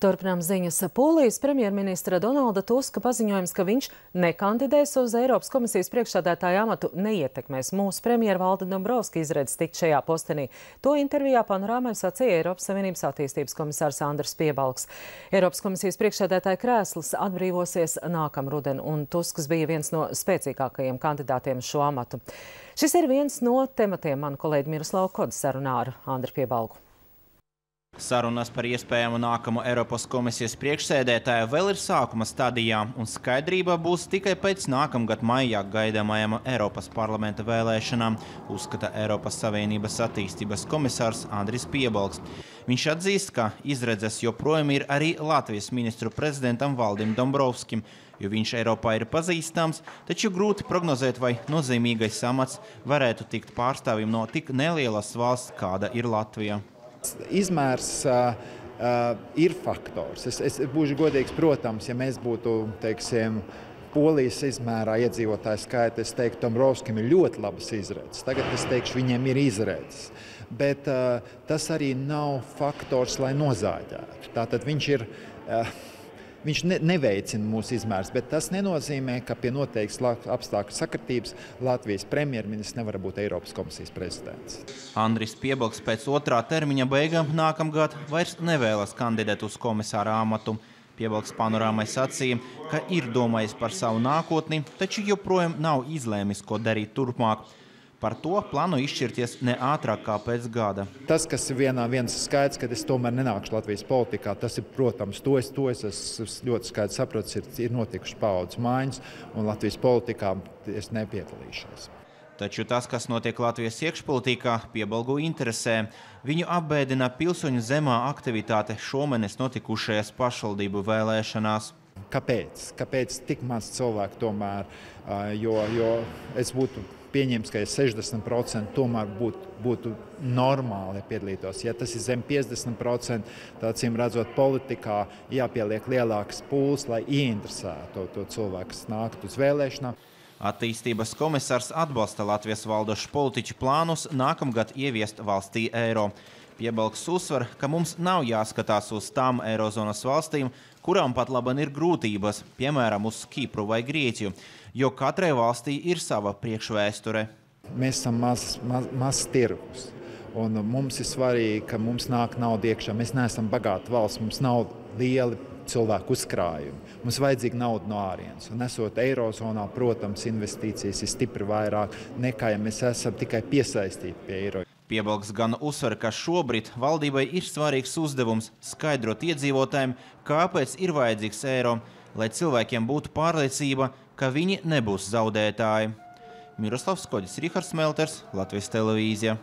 Turpinām ziņas. Polijas premjerministra Donalda Tuska paziņojums, ka viņš nekandidēs uz Eiropas komisijas priekšsēdētāja amatu, neietekmēs mūsu premjera Valda Dombrovska izredzes tikt šajā postenī. To intervijā Panorāmai sacīja Eiropas Savienības attīstības komisārs Andris Piebalgs. Eiropas komisijas priekšsēdētāja krēsls atbrīvosies nākamruden, un Tusks bija viens no spēcīgākajiem kandidātiem uz šo amatu. Šis ir viens no tematiem manu kolēģi Miroslava Koda sarunā ar Andri Piebalgu. Sarunas par iespējamu nākamo Eiropas komisijas priekšsēdētāju vēl ir sākuma stadijā, un skaidrība būs tikai pēc nākamgad maijā gaidāmajām Eiropas parlamenta vēlēšanām, uzskata Eiropas Savienības attīstības komisārs Andris Piebalgs. Viņš atzīst, ka izredzes joprojām ir arī Latvijas ministru prezidentam Valdim Dombrovskim, jo viņš Eiropā ir pazīstams, taču grūti prognozēt, vai nozīmīgais amats varētu tikt pārstāvim no tik nelielas valsts, kāda ir Latvija. Izmērs ir faktors. Es būšu godīgs, protams, ja mēs būtu, teiksim, Polijas izmērā iedzīvotāju skaita, es teiktu, Dombrovskim ir ļoti labas izredzes. Tagad es teikšu, viņiem ir izredzes. Bet tas arī nav faktors, lai nozāģētu. Tātad viņš neveicina mūsu izmērs, bet tas nenozīmē, ka pie noteiktas apstākļu sakritības Latvijas premjerministrs nevar būt Eiropas komisijas prezidents. Andris Piebalgs pēc otrā termiņa beigām nākamgad vairs nevēlas kandidēt uz komisāra amatu. Piebalgs Panorāmai sacīja, ka ir domājis par savu nākotni, taču joprojām nav izlēmis, ko darīt turpmāk. Par to plānu izšķirties ne ātrāk kā pēc gada. Tas, kas ir viens skaidrs, ka es tomēr nenākšu Latvijas politikā, tas ir, protams, to es ļoti skaidri saprotu, ir notikušas paaudzes maiņas, un Latvijas politikā es nepiedalīšos. Taču tas, kas notiek Latvijas iekšpolitikā, Piebalgu interesē. Viņu apbēdina pilsoņu zemā aktivitāte šomēnes notikušajās pašvaldību vēlēšanās. Kāpēc? Kāpēc tik maz cilvēku tomēr? Jo es būtu pieņems, ka 60% tomēr būtu normāli, ja piedalītos. Ja tas ir zem 50%, tad acīm redzot politikā jāpieliek lielāks pūls, lai ieinteresētu to cilvēku, kas nāktu uz vēlēšanām. Attīstības komisārs atbalsta Latvijas valdošu politiķu plānus nākamgad ieviest valstī eiro. Piebalgs uzsver, ka mums nav jāskatās uz tām eirozonas valstīm, kurām pat laban ir grūtības, piemēram, uz Kipru vai Grieķiju, jo katrai valstī ir sava priekšvēsture. Mēs esam mazs tirgus, un mums ir svarīgi, ka mums nāk nauda iekšā. Mēs neesam bagāta valsts, mums nav lieli cilvēku uzkrājumi. Mums vajadzīga nauda no ārienes. Un esot eirozonā, protams, investīcijas ir stipri vairāk nekā, ja mēs esam tikai piesaistīti pie eiro. Piebalgs gan uzsver, ka šobrīd valdībai ir svarīgs uzdevums skaidrot iedzīvotājiem, kāpēc ir vajadzīgs eiro, lai cilvēkiem būtu pārliecība, ka viņi nebūs zaudētāji. Miroslavs Kodis, Rihards Melters, Latvijas televīzija.